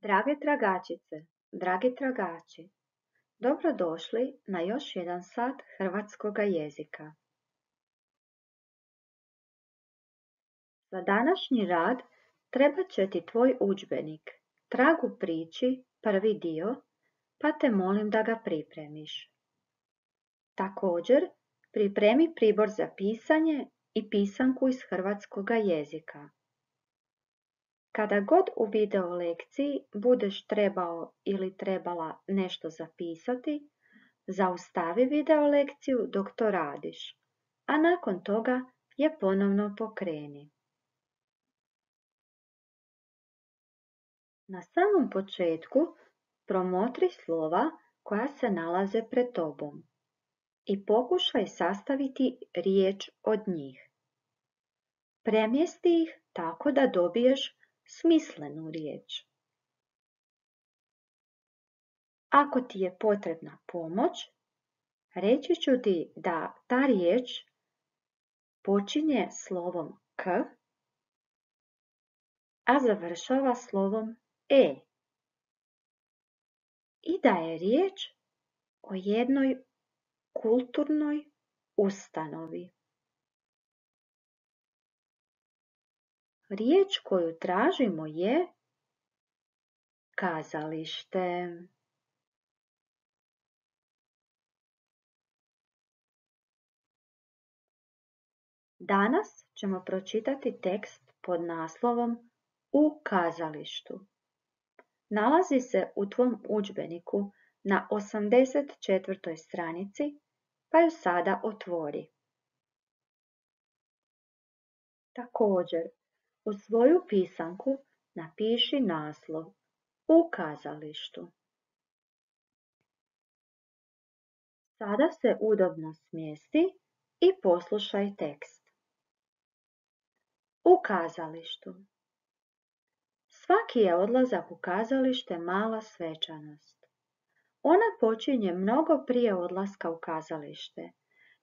Drage tragačice, dragi tragači, dobrodošli na još jedan sat hrvatskoga jezika. Za današnji rad trebat će ti tvoj udžbenik Trag u priči, prvi dio, pa te molim da ga pripremiš. Također, pripremi pribor za pisanje i pisanku iz hrvatskoga jezika. Kada god u video lekciji budeš trebao ili trebala nešto zapisati, zaustavi video lekciju dok to radiš, a nakon toga je ponovno pokreni. Na samom početku promotri slova koja se nalaze pred tobom i pokušaj sastaviti riječ od njih. Premjesti ih tako da dobiješ smislenu riječ. Ako ti je potrebna pomoć, reći ću ti da ta riječ počinje slovom K, a završava slovom E. I da je riječ o jednoj kulturnoj ustanovi. Riječ koju tražimo je kazalište. Danas ćemo pročitati tekst pod naslovom U kazalištu. Nalazi se u tvom udžbeniku na 84. stranici, pa ju sada otvori. Također, u svoju pisanku napiši naslov U kazalištu. Sada se udobno smjesti i poslušaj tekst. U kazalištu. Svaki je odlazak u kazalište mala svečanost. Ona počinje mnogo prije odlaska u kazalište,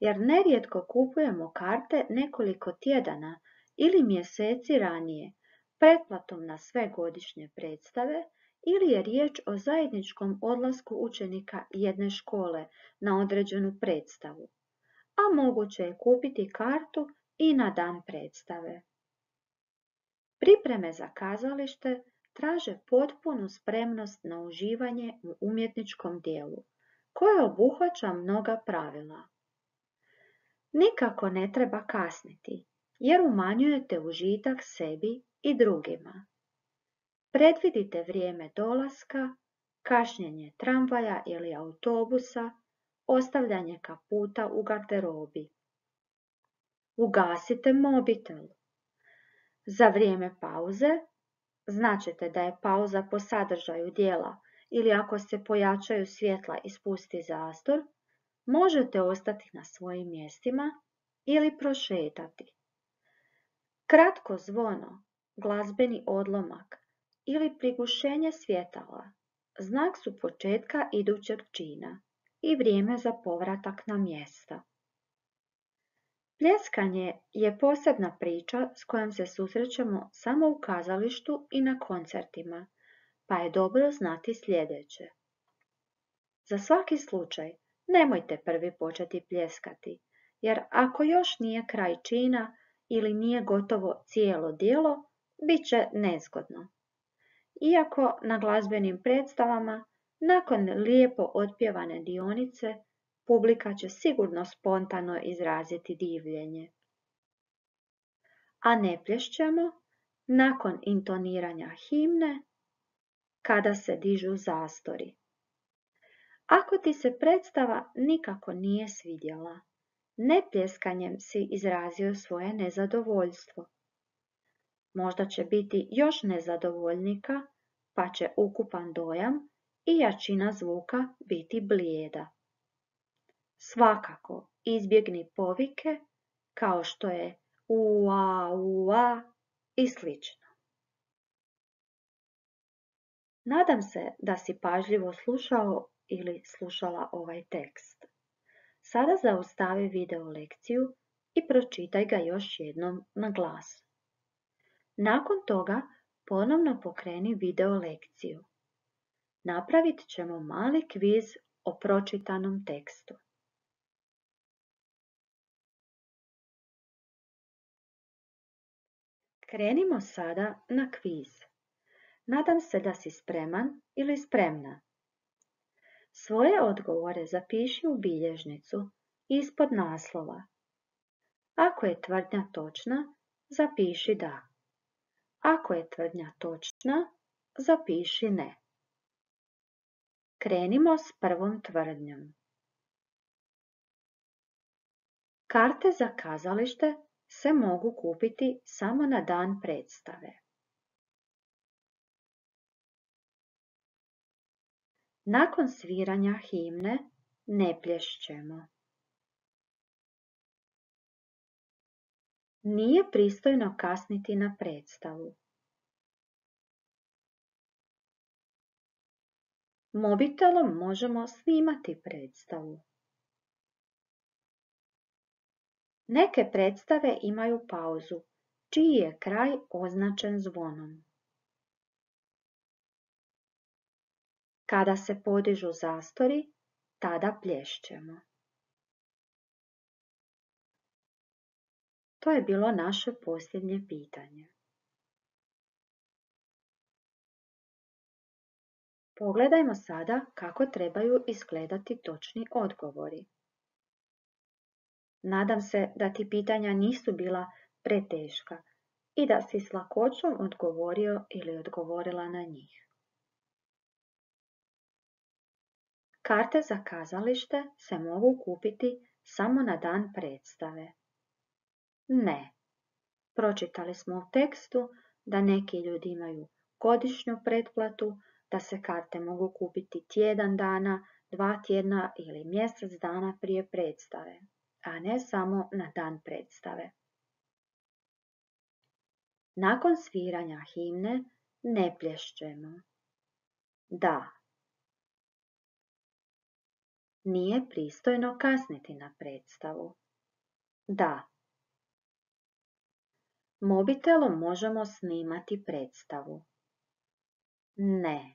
jer nerijetko kupujemo karte nekoliko tjedana ili mjeseci ranije, pretplatom na sve godišnje predstave ili je riječ o zajedničkom odlasku učenika jedne škole na određenu predstavu, a moguće je kupiti kartu i na dan predstave. Pripreme za kazalište traže potpunu spremnost na uživanje u umjetničkom dijelu, koje obuhvaća mnoga pravila. Nikako ne treba kasniti, jer umanjujete užitak sebi i drugima. Predvidite vrijeme dolaska, kašnjenje tramvaja ili autobusa, ostavljanje kaputa u garderobi. Ugasite mobitel. Za vrijeme pauze, značite da je pauza po sadržaju dijela ili ako se pojačaju svjetla i spusti zastor, možete ostati na svojim mjestima ili prošetati. Kratko zvono, glazbeni odlomak ili prigušenje svjetala znak su početka idućeg čina i vrijeme za povratak na mjesta. Pljeskanje je posebna priča s kojom se susrećemo samo u kazalištu i na koncertima, pa je dobro znati sljedeće. Za svaki slučaj nemojte prvi početi pljeskati, jer ako još nije kraj čina ili nije gotovo cijelo djelo, bit će nezgodno. Iako na glazbenim predstavama, nakon lijepo otpjevane dionice, publika će sigurno spontano izraziti divljenje. A ne plješćemo nakon intoniranja himne kada se dižu zastori. Ako ti se predstava nikako nije svidjela, nepljeskanjem si izrazio svoje nezadovoljstvo. Možda će biti još nezadovoljnika, pa će ukupan dojam i jačina zvuka biti blijeda. Svakako izbjegni povike kao što je ua i slično. Nadam se da si pažljivo slušao ili slušala ovaj tekst. Sada zaustavi video lekciju i pročitaj ga još jednom na glas. Nakon toga Ponovno pokreni video lekciju. Napravit ćemo mali kviz o pročitanom tekstu. Krenimo sada na kviz. Nadam se da si spreman ili spremna. Svoje odgovore zapiši u bilježnicu ispod naslova. Ako je tvrdnja točna, zapiši da. Ako je tvrdnja točna, zapiši ne. Krenimo s prvom tvrdnjom. Karte za kazalište se mogu kupiti samo na dan predstave. Nakon sviranja himne ne plješćemo. Nije pristojno kasniti na predstavu. Mobitelom možemo snimati predstavu. Neke predstave imaju pauzu, čiji je kraj označen zvonom. Kada se podižu zastori, tada plješćemo. To je bilo naše posljednje pitanje. Pogledajmo sada kako trebaju izgledati točni odgovori. Nadam se da ti pitanja nisu bila preteška i da si s lakoćom odgovorio ili odgovorila na njih. Karte za kazalište se mogu kupiti samo na dan predstave. Ne. Pročitali smo u tekstu da neki ljudi imaju godišnju pretplatu, da se karte mogu kupiti tjedan dana, 2 tjedna ili mjesec dana prije predstave, a ne samo na dan predstave. Nakon sviranja himne ne plješćemo. Da. Nije pristojno kasniti na predstavu. Da. Mobitelom možemo snimati predstavu. Ne.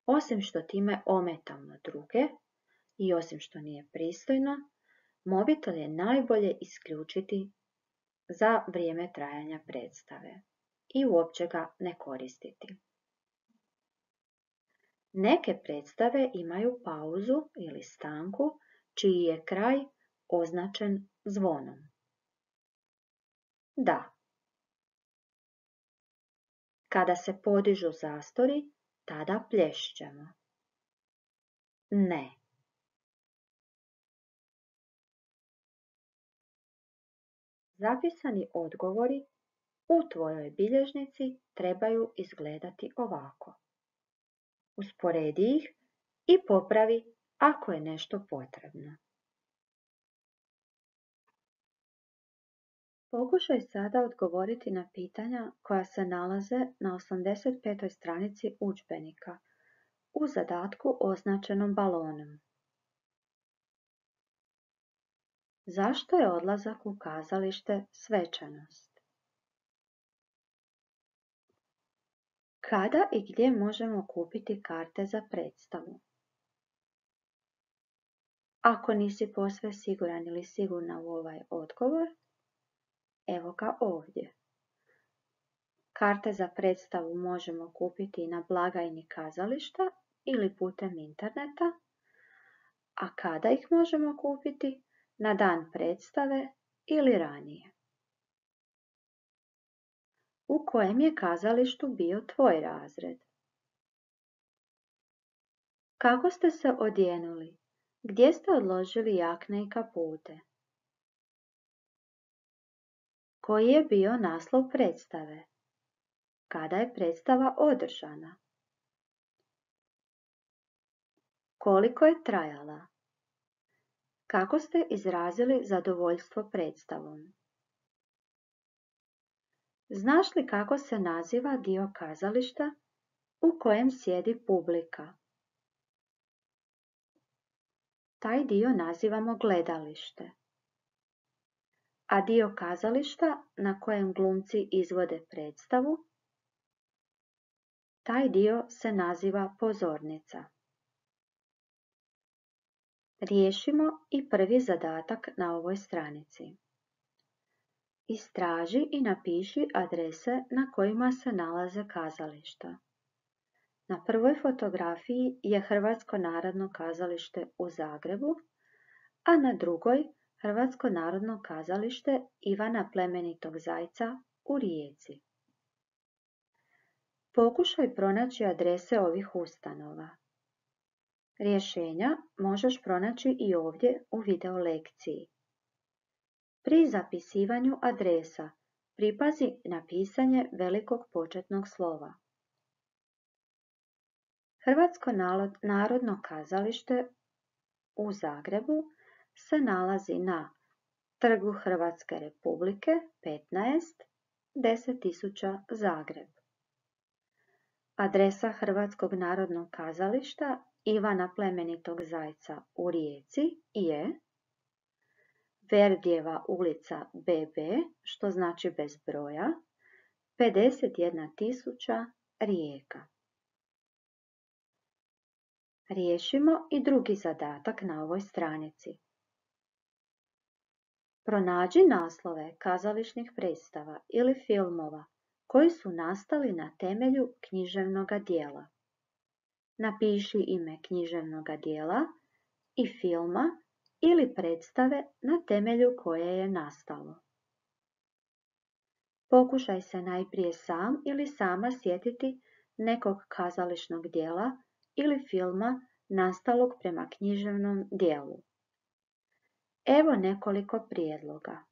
Osim što time ometamo druge i osim što nije pristojno, mobitel je najbolje isključiti za vrijeme trajanja predstave i uopće ga ne koristiti. Neke predstave imaju pauzu ili stanku, čiji je kraj označen zvonom. Da. Kada se podižu zastori, tada plješćemo. Ne. Zapisani odgovori u tvojoj bilježnici trebaju izgledati ovako. Usporedi ih i popravi ako je nešto potrebno. Pokušaj sada odgovoriti na pitanja koja se nalaze na 85. stranici udžbenika u zadatku označenom balonom. Zašto je odlazak u kazalište svečanost? Kada i gdje možemo kupiti karte za predstavu? Ako nisi posve siguran ili sigurna u ovaj odgovor, evo ga ovdje. Karte za predstavu možemo kupiti na blagajni kazališta ili putem interneta, a kada ih možemo kupiti? Na dan predstave ili ranije. U kojem je kazalištu bio tvoj razred? Kako ste se odjenuli? Gdje ste odložili jakne i kapute? Koji je bio naslov predstave? Kada je predstava održana? Koliko je trajala? Kako ste izrazili zadovoljstvo predstavom? Znaš li kako se naziva dio kazališta u kojem sjedi publika? Taj dio nazivamo gledalište. A dio kazališta na kojem glumci izvode predstavu? Taj dio se naziva pozornica. Riješimo i prvi zadatak na ovoj stranici. Istraži i napiši adrese na kojima se nalaze kazališta. Na prvoj fotografiji je Hrvatsko narodno kazalište u Zagrebu, a na drugoj Hrvatsko narodno kazalište Ivana Plemenitog Zajca u Rijeci. Pokušaj pronaći adrese ovih ustanova. Rješenja možeš pronaći i ovdje u video lekciji. Pri zapisivanju adresa pripazi na pisanje velikog početnog slova. Hrvatsko narodno kazalište u Zagrebu se nalazi na Trgu Hrvatske Republike 15 10.000 Zagreb. Adresa Hrvatskog narodnog kazališta Ivana Plemenitog Zajca u Rijeci je Verdijeva ulica BB, što znači bez broja, 51.000 Rijeka. Riješimo i drugi zadatak na ovoj stranici. Pronađi naslove kazališnih predstava ili filmova koji su nastali na temelju književnoga djela. Napiši ime književnoga djela i filma ili predstave na temelju koje je nastalo. Pokušaj se najprije sam ili sama sjetiti nekog kazališnog djela ili filma nastalog prema književnom djelu. Evo nekoliko prijedloga.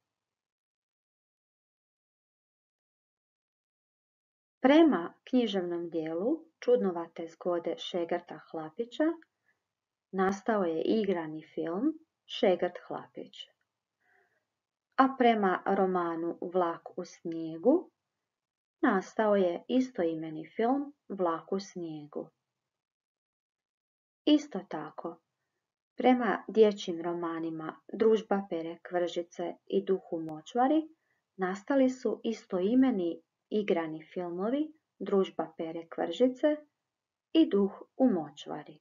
Prema književnom djelu Čudnovate zgode Šegrta Hlapića nastao je igrani film Šegrt Hlapić. A prema romanu Vlak u snijegu nastao je istoimeni film Vlak u snijegu. Isto tako, prema dječjim romanima Družba Pere Kvržice i Duh u močvari nastali su istoimeni igrani filmovi Družba Pere Kvržice i Duh u močvari.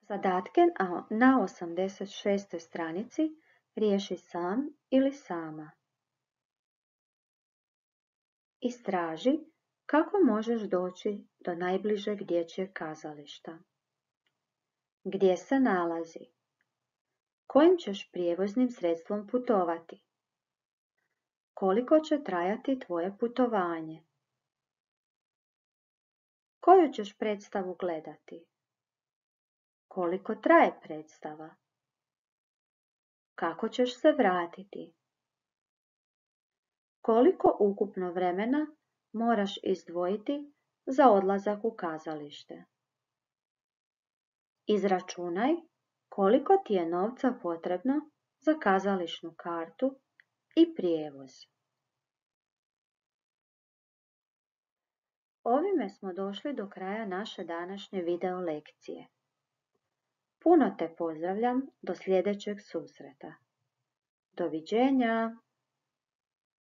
Zadatke na 86. stranici riješi sam ili sama. Istraži kako možeš doći do najbližeg dječjeg kazališta. Gdje se nalazi? Kojim ćeš prijevoznim sredstvom putovati? Koliko će trajati tvoje putovanje? Koju ćeš predstavu gledati? Koliko traje predstava? Kako ćeš se vratiti? Koliko ukupno vremena moraš izdvojiti za odlazak u kazalište? Izračunaj koliko ti je novca potrebno za kazališnu kartu i prijevoz. Ovime smo došli do kraja naše današnje video lekcije. Puno te pozdravljam do sljedećeg susreta. Doviđenja!